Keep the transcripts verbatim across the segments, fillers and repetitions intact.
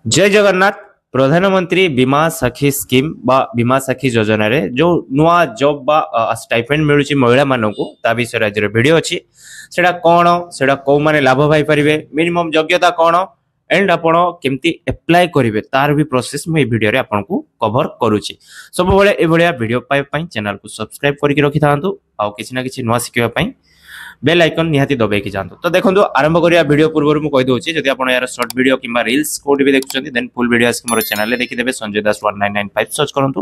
ଜୟ ଜଗନ୍ନାଥ। ପ୍ରଧାନମନ୍ତ୍ରୀ ବୀମା ସାଥୀ ସ୍କିମ୍ ବା ବୀମା ସାଥୀ ଯୋଜନାରେ ଯେଉଁ ନୂଆ ଜବ୍ ବା ଷ୍ଟାଇପେଣ୍ଡ ମିଳୁଛି ମହିଳାମାନଙ୍କୁ, ତା ବିଷୟରେ ଆଜିର ଭିଡ଼ିଓ ଅଛି। ସେଇଟା କ'ଣ, ସେଇଟା କେଉଁମାନେ ଲାଭ ପାଇପାରିବେ, ମିନିମମ୍ ଯୋଗ୍ୟତା କ'ଣ ଏଣ୍ଡ ଆପଣ କେମିତି ଆପ୍ଲାଏ କରିବେ, ତାର ବି ପ୍ରୋସେସ୍ ମୁଁ ଏଇ ଭିଡ଼ିଓରେ ଆପଣଙ୍କୁ କଭର କରୁଛି। ସବୁବେଳେ ଏଭଳିଆ ଭିଡ଼ିଓ ପାଇବା ପାଇଁ ଚ୍ୟାନେଲକୁ ସବସ୍କ୍ରାଇବ୍ କରିକି ରଖିଥାନ୍ତୁ ଆଉ କିଛି ନା କିଛି ନୂଆ ଶିଖିବା ପାଇଁ ବେଲ୍ ଆଇକନ୍ ନିହାତି ଦବେଇକି ଯାଆନ୍ତୁ। ତ ଦେଖନ୍ତୁ, ଆରମ୍ଭ କରିବା ଭିଡ଼ିଓ ପୂର୍ବରୁ ମୁଁ କହିଦେଉଛି, ଯଦି ଆପଣ ଏହାର ସର୍ଟ ଭିଡ଼ିଓ କିମ୍ବା ରିଲ୍ସ କୋଉଠି ବି ଦେଖୁଛନ୍ତି, ଦେନ୍ ଫୁଲ୍ ଭିଡ଼ିଓ ଆସିକି ମୋର ଚ୍ୟାନେଲରେ ଦେଖିଦେବେ। Sanjay Das one nine nine five search କରନ୍ତୁ।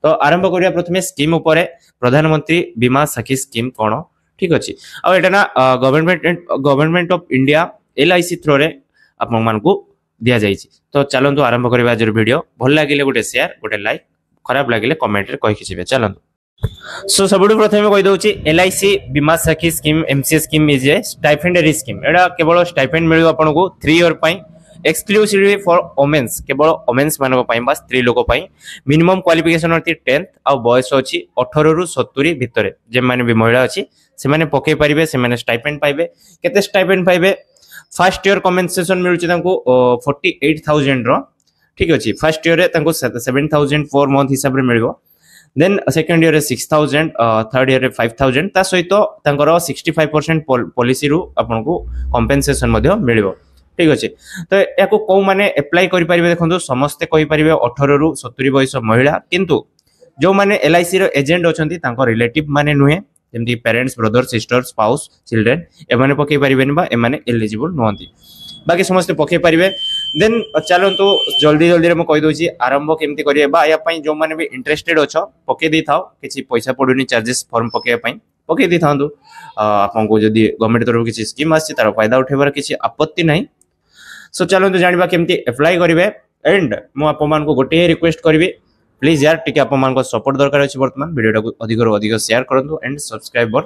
ତ ଆରମ୍ଭ କରିବା ପ୍ରଥମେ ସ୍କିମ୍ ଉପରେ। ପ୍ରଧାନମନ୍ତ୍ରୀ ବୀମା ସାଥୀ ସ୍କିମ୍ କ'ଣ? ଠିକ ଅଛି, ଆଉ ଏଇଟା ନା government government of India L I C ଥ୍ରୋରେ ଆପଣମାନଙ୍କୁ ଦିଆଯାଇଛି। ତ ଚାଲନ୍ତୁ ଆରମ୍ଭ କରିବା ଆଜିର ଭିଡ଼ିଓ। ଭଲ ଲାଗିଲେ ଗୋଟେ ସେୟାର, ଗୋଟେ ଲାଇକ୍, ଖରାପ ଲାଗିଲେ କମେଣ୍ଟରେ କହିକି ଯିବେ। ଚାଲନ୍ତୁ। ସୋ ସବୁଠୁ ପ୍ରଥମେ କହିଦେଉଛି, ଏଲ୍ଆଇସି ବୀମା ସାଥୀ scheme, M C S scheme is a stipendiary scheme. ଏଇଟା କେବଳ ଷ୍ଟାଇପେଣ୍ଡ ମିଳିବ ଆପଣଙ୍କୁ ଥ୍ରୀ ଇୟର ପାଇଁ, ଏକ୍ସକ୍ଲୁସିଭଲି ଫର୍ ଓମେନ୍ସ, କେବଳ ଓମେନ୍ସ ମାନଙ୍କ ପାଇଁ ବା ସ୍ତ୍ରୀ ଲୋକ ପାଇଁ। ମିନିମମ୍ କ୍ୱାଲିଫିକେସନ ଅଛି ଟେନ୍ଥ ଆଉ ବୟସ ଅଛି ଅଠରରୁ ସତୁରି ଭିତରେ। ଯେଉଁମାନେ ବି ମହିଳା ଅଛି, ସେମାନେ ପକେଇ ପାରିବେ, ସେମାନେ ଷ୍ଟାଇପେଣ୍ଡ ପାଇବେ। କେତେ ଷ୍ଟାଇପେଣ୍ଡ ପାଇବେ? ଫାର୍ଷ୍ଟ ଇୟର କମ୍ପେନସେସନ ମିଳୁଛି ତାଙ୍କୁ ଫର୍ଟି ଏଇଟ୍ ଥାଉଜେଣ୍ଡର। ଠିକ ଅଛି, ଫାର୍ଷ୍ଟ ଇୟରରେ ତାଙ୍କୁ ସେଭେନ୍ ଥାଉଜେଣ୍ଡ ପର ମନ୍ଥ ହିସାବରେ ମିଳିବ। ଦେନ୍ ସେକେଣ୍ଡ ଇୟରରେ ସିକ୍ସ ଥାଉଜେଣ୍ଡ, ଥାର୍ଡ ଇୟରରେ ଫାଇଭ୍ ଥାଉଜେଣ୍ଡ। ତା ସହିତ ତାଙ୍କର ସିକ୍ସଟି ଫାଇଭ୍ ପରସେଣ୍ଟ ପଲିସିରୁ ଆପଣଙ୍କୁ କମ୍ପେନସେସନ ମଧ୍ୟ ମିଳିବ। ଠିକ ଅଛି, ତ ଏହାକୁ କେଉଁମାନେ ଆପ୍ଲାଏ କରିପାରିବେ? ଦେଖନ୍ତୁ, ସମସ୍ତେ କହିପାରିବେ, ଅଠରରୁ ସତୁରି ବୟସ ମହିଳା। କିନ୍ତୁ ଯେଉଁମାନେ ଏଲ୍ଆଇସିର ଏଜେଣ୍ଟ ଅଛନ୍ତି, ତାଙ୍କ ରିଲେଟିଭ ମାନେ ନୁହେଁ, ଯେମିତି parents, brother, sister, spouse, children, ଏମାନେ ପକେଇ ପାରିବେନି ବା ଏମାନେ ଏଲିଜିବଲ୍ ନୁହନ୍ତି। ବାକି ସମସ୍ତେ ପକେଇ ପାରିବେ। ଦେନ୍ ଚାଲନ୍ତୁ, ଜଲ୍ଦି ଜଲ୍ଦିରେ ମୁଁ କହିଦେଉଛି ଆରମ୍ଭ କେମିତି କରିବେ ବା ୟା ପାଇଁ ଯେଉଁମାନେ ବି ଇଣ୍ଟରେଷ୍ଟେଡ୍ ଅଛ, ପକେଇ ଦେଇଥାଅ। କିଛି ପଇସା ପଡ଼ୁନି ଚାର୍ଜେସ୍ ଫର୍ମ ପକେଇବା ପାଇଁ, ପକେଇ ଦେଇଥାନ୍ତୁ। ଆପଣଙ୍କୁ ଯଦି ଗଭର୍ଣ୍ଣମେଣ୍ଟ ତରଫରୁ କିଛି ସ୍କିମ୍ ଆସିଛି, ତାର ଫାଇଦା ଉଠେଇବାର କିଛି ଆପତ୍ତି ନାହିଁ। ସୋ ଚାଲନ୍ତୁ ଜାଣିବା କେମିତି ଆପ୍ଲାଏ କରିବେ। ଏଣ୍ଡ ମୁଁ ଆପଣମାନଙ୍କୁ ଗୋଟିଏ ରିକ୍ୱେଷ୍ଟ କରିବି, ପ୍ଲିଜ୍ ୟାର, ଟିକେ ଆପଣମାନଙ୍କ ସପୋର୍ଟ ଦରକାର ଅଛି ବର୍ତ୍ତମାନ। ଭିଡ଼ିଓଟାକୁ ଅଧିକରୁ ଅଧିକ ସେୟାର କରନ୍ତୁ ଆଣ୍ଡ ସବସ୍କ୍ରାଇବର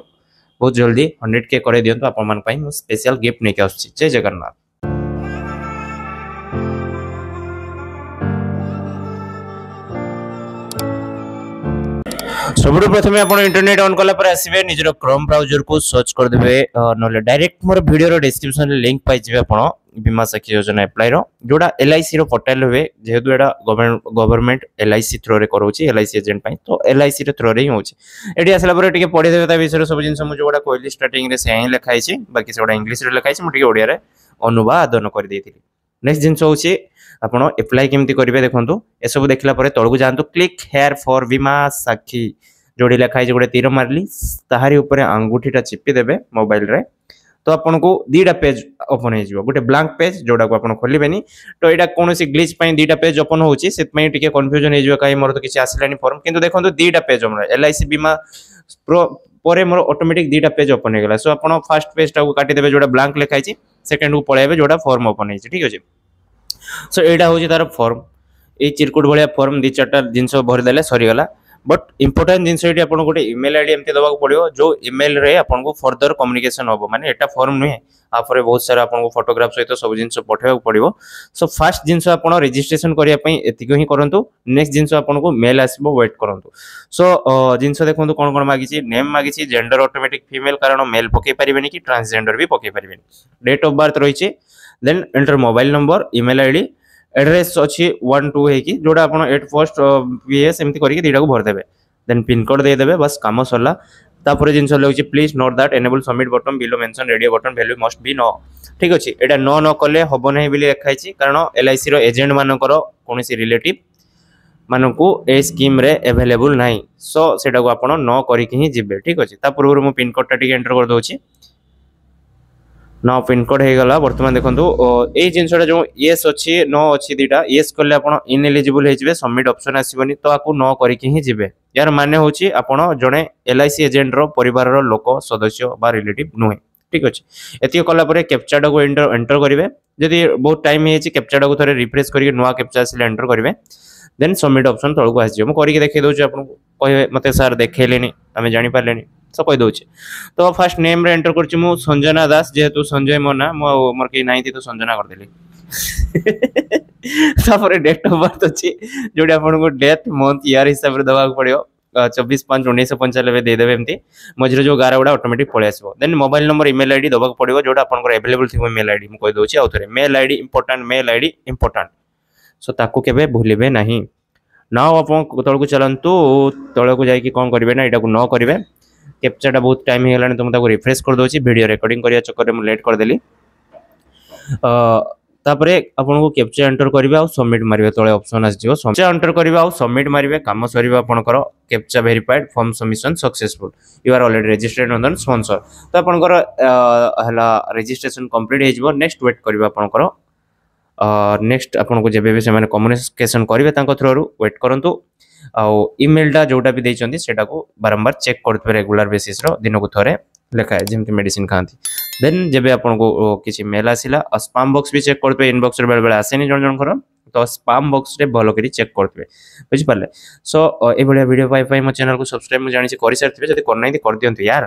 ବହୁତ ଜଲ୍ଦି ହଣ୍ଡ୍ରେଡ କେ କରାଇ ଦିଅନ୍ତୁ। ଆପଣମାନଙ୍କ ପାଇଁ ମୁଁ ସ୍ପେଶାଲ ଗିଫ୍ଟ ନେଇକି ଆସୁଛି। ଜୟ ଜଗନ୍ନାଥ। ସବୁଠୁ ପ୍ରଥମେ ଆପଣ ଇଣ୍ଟରନେଟ୍ ଅନ୍ କଲା ପରେ ଆସିବେ, ନିଜର କ୍ରୋମ୍ ବ୍ରାଉଜରକୁ ସର୍ଚ୍ଚ କରିଦେବେ, ନହେଲେ ଡାଇରେକ୍ଟ ମୋର ଭିଡ଼ିଓର ଡିସ୍କ୍ରିପସନରେ ଲିଙ୍କ ପାଇଯିବେ ଆପଣ ବୀମା ସାଥୀ ଯୋଜନା ଆପ୍ଲାଏର, ଯୋଉଟା ଏଲ୍ଆଇସିର ପୋର୍ଟାଲ ହୁଏ। ଯେହେତୁ ଏଇଟା ଗଭର୍ଣ୍ଣମେଣ୍ଟ ଏଲ୍ଆଇସି ଥ୍ରୋରେ କରାଉଛି ଏଲ୍ଆଇସି ଏଜେଣ୍ଟ ପାଇଁ, ତ ଏଲ୍ଆଇସିର ଥ୍ରୋରେ ହିଁ ହେଉଛି। ଏଠି ଆସିଲା ପରେ ଟିକେ ପଢ଼ିଦେବେ ତା ବିଷୟରେ। ସବୁ ଜିନିଷ ମୁଁ ଯୋଉଗୁଡ଼ା କହିଲି ଷ୍ଟାର୍ଟିଂରେ, ସେୟା ହିଁ ଲେଖା ହେଇଛି। ବାକି ସେଗୁଡ଼ା ଇଂଲିଶରେ ଲେଖା ହେଇଛି, ମୁଁ ଟିକେ ଓଡ଼ିଆରେ ଅନୁବାଦନ କରିଦେଇଥିଲି। ନେକ୍ସଟ ଜିନିଷ ହେଉଛି ଆପଣ ଆପ୍ଲାଏ କେମିତି କରିବେ। ଦେଖନ୍ତୁ, ଏସବୁ ଦେଖିଲା ପରେ ତଳକୁ ଯାଆନ୍ତୁ, କ୍ଲିକ୍ ହେୟାର ଫର୍ ବୀମା ସାଥୀ ଯୋଉଠି ଲେଖା ହେଇଛି, ଗୋଟେ ତୀର ମାରିଲି, ତାହାରି ଉପରେ ଆଙ୍ଗୁଠିଟା ଚିପି ଦେବେ ମୋବାଇଲରେ, ତ ଆପଣଙ୍କୁ ଦୁଇଟା ପେଜ୍ ଓପନ୍ ହେଇଯିବ। ଗୋଟେ ବ୍ଲାଙ୍କ ପେଜ୍, ଯୋଉଟାକୁ ଆପଣ ଖୋଲିବେନି। ତ ଏଇଟା କୌଣସି ଗ୍ଲିଚ୍ ପାଇଁ ଦୁଇଟା ପେଜ୍ ଓପନ୍ ହେଉଛି, ସେଥିପାଇଁ ଟିକେ କନଫ୍ୟୁଜନ୍ ହେଇଯିବ, କାହିଁ ମୋର ତ କିଛି ଆସିଲାନି ଫର୍ମ। କିନ୍ତୁ ଦେଖନ୍ତୁ, ଦୁଇଟା ପେଜ୍ ଆମର ଏଲ୍ I C ବୀମା ପରେ ମୋର ଅଟୋମେଟିକ୍ ଦୁଇଟା ପେଜ୍ ଓପନ୍ ହେଇଗଲା। ସୋ ଆପଣ ଫାର୍ଷ୍ଟ ପେଜ୍ଟାକୁ କାଟିଦେବେ, ଯୋଉଟା ବ୍ଲାଙ୍କ ଲେଖା ହେଇଛି, ସେକେଣ୍ଡକୁ ପଳେଇବେ, ଯୋଉଟା ଫର୍ମ ଓପନ୍ ହେଇଛି। ଠିକ ଅଛି, ସୋ ଏଇଟା ହେଉଛି ତାର ଫର୍ମ। ଏଇ ଚିରକୁଟ ଭଳିଆ ଫର୍ମ, ଦୁଇ ଚାରିଟା ଜିନିଷ ଭରିଦେଲେ ସରିଗଲା। ବଟ୍ ଇମ୍ପୋର୍ଟାଣ୍ଟ ଜିନିଷ, ଏଠି ଆପଣଙ୍କୁ ଗୋଟେ ଇମେଲ୍ ଆଇଡି ଏମିତି ଦେବାକୁ ପଡ଼ିବ, ଯେଉଁ ଇମେଲରେ ଆପଣଙ୍କୁ ଫର୍ଦର କମ୍ୟୁନିକେସନ ହେବ। ମାନେ ଏଟା ଫର୍ମ ନୁହେଁ, ତାପରେ ବହୁତ ସାରା ଆପଣଙ୍କୁ ଫଟୋଗ୍ରାଫ ସହିତ ସବୁ ଜିନିଷ ପଠାଇବାକୁ ପଡ଼ିବ। ସୋ ଫାର୍ଷ୍ଟ ଜିନିଷ ଆପଣ ରେଜିଷ୍ଟ୍ରେସନ କରିବା ପାଇଁ ଏତିକି ହିଁ କରନ୍ତୁ। ନେକ୍ସଟ ଜିନିଷ ଆପଣଙ୍କୁ ମେଲ୍ ଆସିବ, ୱେଟ୍ କରନ୍ତୁ। ସୋ ଜିନିଷ ଦେଖନ୍ତୁ କ'ଣ କ'ଣ ମାଗିଛି। ନେମ୍ ମାଗିଛି, ଜେଣ୍ଡର ଅଟୋମେଟିକ୍ ଫିମେଲ୍, କାରଣ ମେଲ୍ ପକେଇ ପାରିବେନି କି ଟ୍ରାନ୍ସଜେଣ୍ଡର ବି ପକେଇ ପାରିବେନି। ଡେଟ୍ ଅଫ୍ ବାର୍ଥ ରହିଛି, ଦେନ୍ enter mobile number, email I D, address ଅଛି ୱାନ୍ ଟୁ ହେଇକି, ଯୋଉଟା ଆପଣ ଏଟ୍ ଫର୍ଷ୍ଟ ପି ଏସ୍ ଏମିତି କରିକି ଦୁଇଟାକୁ ଭରିଦେବେ। ଦେନ୍ ପିନକୋଡ଼ ଦେଇଦେବେ, ବାସ୍ କାମ ସରିଲା। ତାପରେ ଜିନିଷ ଲେଖୁଛି, "Please note that enable submit button below mention radio button value must be no." ଠିକ ଅଛି, ଏଇଟା ନୋ ନ କଲେ ହବ ନାହିଁ ବୋଲି ଲେଖା ହେଇଛି, କାରଣ ଏଲ୍ଆଇସିର ଏଜେଣ୍ଟ ମାନଙ୍କର କୌଣସି ରିଲେଟିଭ ମାନଙ୍କୁ ଏ ସ୍କିମ୍ରେ ଆଭେଲେବୁଲ୍ ନାହିଁ। ସୋ ସେଇଟାକୁ ଆପଣ ନ କରିକି ହିଁ ଯିବେ। ଠିକ ଅଛି, ତା ପୂର୍ବରୁ ମୁଁ ପିନକୋଡ଼ଟା ଟିକେ ଏଣ୍ଟର କରିଦେଉଛି। ନ ପିନକୋଡ଼ ହେଇଗଲା। ବର୍ତ୍ତମାନ ଦେଖନ୍ତୁ, ଏଇ ଜିନିଷଟା ଯେଉଁ ୟେସ୍ ଅଛି, ନୋ ଅଛି ଦୁଇଟା, ୟେସ୍ କଲେ ଆପଣ ଇନଏଲିଜିବୁଲ୍ ହେଇଯିବେ, ସବମିଟ୍ ଅପସନ୍ ଆସିବନି। ତ ଆକୁ ନ କରିକି ହିଁ ଯିବେ। ଏହାର ମାନେ ହେଉଛି ଆପଣ ଜଣେ ଏଲ୍ I C ଏଜେଣ୍ଟର ପରିବାରର ଲୋକ, ସଦସ୍ୟ ବା ରିଲେଟିଭ୍ ନୁହେଁ। ଠିକ ଅଛି, ଏତିକି କଲା ପରେ କ୍ୟାପଚାଟାକୁ ଏଣ୍ଟର ଏଣ୍ଟର କରିବେ। ଯଦି ବହୁତ ଟାଇମ୍ ହେଇଯାଇଛି, କ୍ୟାପଚାଟାକୁ ଥରେ ରିଫ୍ରେଶ୍ କରିକି ନୂଆ କ୍ୟାପଚା ଆସିଲେ ଏଣ୍ଟର କରିବେ। ଦେନ୍ ସବମିଟ୍ ଅପସନ୍ ତଳକୁ ଆସିଯିବ। ମୁଁ କରିକି ଦେଖେଇ ଦେଉଛି ଆପଣଙ୍କୁ, କହିବେ ମୋତେ ସାର୍ ଦେଖେଇଲେନି, ଆମେ ଜାଣିପାରିଲେନି। ତ କହିଦେଉଛି। ତ ଫାର୍ଷ୍ଟ ନେମ୍ରେ ଏଣ୍ଟର କରୁଛି ମୁଁ ସଞ୍ଜନା ଦାସ। ଯେହେତୁ ସଞ୍ଜୟ ମୋ ନା, ମୁଁ ଆଉ ମୋର କେହି ନାହାନ୍ତି, ତ ସଞ୍ଜନା କରିଦେଲି। ତାପରେ ଡେଟ୍ ଅଫ୍ ବାର୍ଥ ଅଛି, ଯୋଉଠି ଆପଣଙ୍କୁ ଡେଟ୍, ମନ୍ଥ, ଇୟର ହିସାବରେ ଦେବାକୁ ପଡ଼ିବ। ଚବିଶ ପାଞ୍ଚ ଉଣେଇଶହ ପଞ୍ଚାନବେ ଦେଇଦେବେ ଏମିତି, ମଝିରେ ଯେଉଁ ଗାର ଗୁଡ଼ା ଅଟୋମେଟିକ୍ ପଳେଇ ଆସିବ। ଦେନ୍ ମୋବାଇଲ ନମ୍ବର, ଇମେଲ୍ ଆଇଡି ଦେବାକୁ ପଡ଼ିବ, ଯୋଉଟା ଆପଣଙ୍କର ଆଭେଲେବଲ୍ ଥିବ ଇମେଲ୍ ଆଇଡି। ମୁଁ କହିଦେଉଛି ଆଉ ଥରେ, mail ID important, mail ID important. So ତାକୁ କେବେ ଭୁଲିବେ ନାହିଁ। ନାଉ ଆପଣ ତଳକୁ ଚାଲନ୍ତୁ। ତଳକୁ ଯାଇକି କ'ଣ କରିବେ ନା, ଏଇଟାକୁ ନ କରିବେ। କ୍ୟାପଚାଟା ବହୁତ ଟାଇମ୍ ହେଇଗଲାଣି, ତ ମୁଁ ତାକୁ ରିଫ୍ରେଶ୍ କରିଦେଉଛି। ଭିଡ଼ିଓ ରେକର୍ଡ଼ିଂ କରିବା ଚକ୍କରରେ ମୁଁ ଲେଟ୍ କରିଦେଲି। ତାପରେ ଆପଣଙ୍କୁ କ୍ୟାପଚା ଏଣ୍ଟର କରିବେ ଆଉ ସବମିଟ୍ ମାରିବେ। ତଳେ ଅପସନ୍ ଆସିଯିବ। କ୍ୟାପଚା ଏଣ୍ଟର କରିବେ ଆଉ ସବମିଟ୍ ମାରିବେ, କାମ ସରିବ ଆପଣଙ୍କର। Captcha verified, form submission successful, you are already registered on sponsor. ତ ଆପଣଙ୍କର ହେଲା ରେଜିଷ୍ଟ୍ରେସନ କମ୍ପ୍ଲିଟ୍ ହେଇଯିବ। ନେକ୍ସଟ ୱେଟ୍ କରିବେ ଆପଣଙ୍କର, ନେକ୍ସଟ ଆପଣଙ୍କୁ ଯେବେ ବି ସେମାନେ କମ୍ୟୁନିକେସନ୍ କରିବେ ତାଙ୍କ ଥ୍ରୋରୁ, ୱେଟ୍ କରନ୍ତୁ। ଆଉ ଇମେଲଟା ଯେଉଁଟା ବି ଦେଇଛନ୍ତି, ସେଇଟାକୁ ବାରମ୍ବାର ଚେକ୍ କରୁଥିବେ ରେଗୁଲାର ବେସିସ୍ର, ଦିନକୁ ଥରେ ଲେଖାଏ, ଯେମିତି ମେଡ଼ିସିନ ଖାଆନ୍ତି। ଦେନ୍ ଯେବେ ଆପଣଙ୍କୁ କିଛି ମେଲ୍ ଆସିଲା, ଆଉ ସ୍ପାମ୍ ବକ୍ସ ବି ଚେକ୍ କରୁଥିବେ। ଇନବକ୍ସରେ ବେଳେବେଳେ ଆସେନି ଜଣ ଜଣଙ୍କର, ତ ସ୍ପାମ୍ ବକ୍ସରେ ଭଲ କରି ଚେକ୍ କରୁଥିବେ, ବୁଝିପାରିଲେ? ସୋ ଏଇଭଳିଆ ଭିଡ଼ିଓ ପାଇବା ପାଇଁ ମୋ ଚ୍ୟାନେଲକୁ ସବସ୍କ୍ରାଇବ୍, ମୁଁ ଜାଣିଛି କରିସାରିଥିବେ, ଯଦି କରିନାହାନ୍ତି କରିଦିଅନ୍ତୁ ୟାର।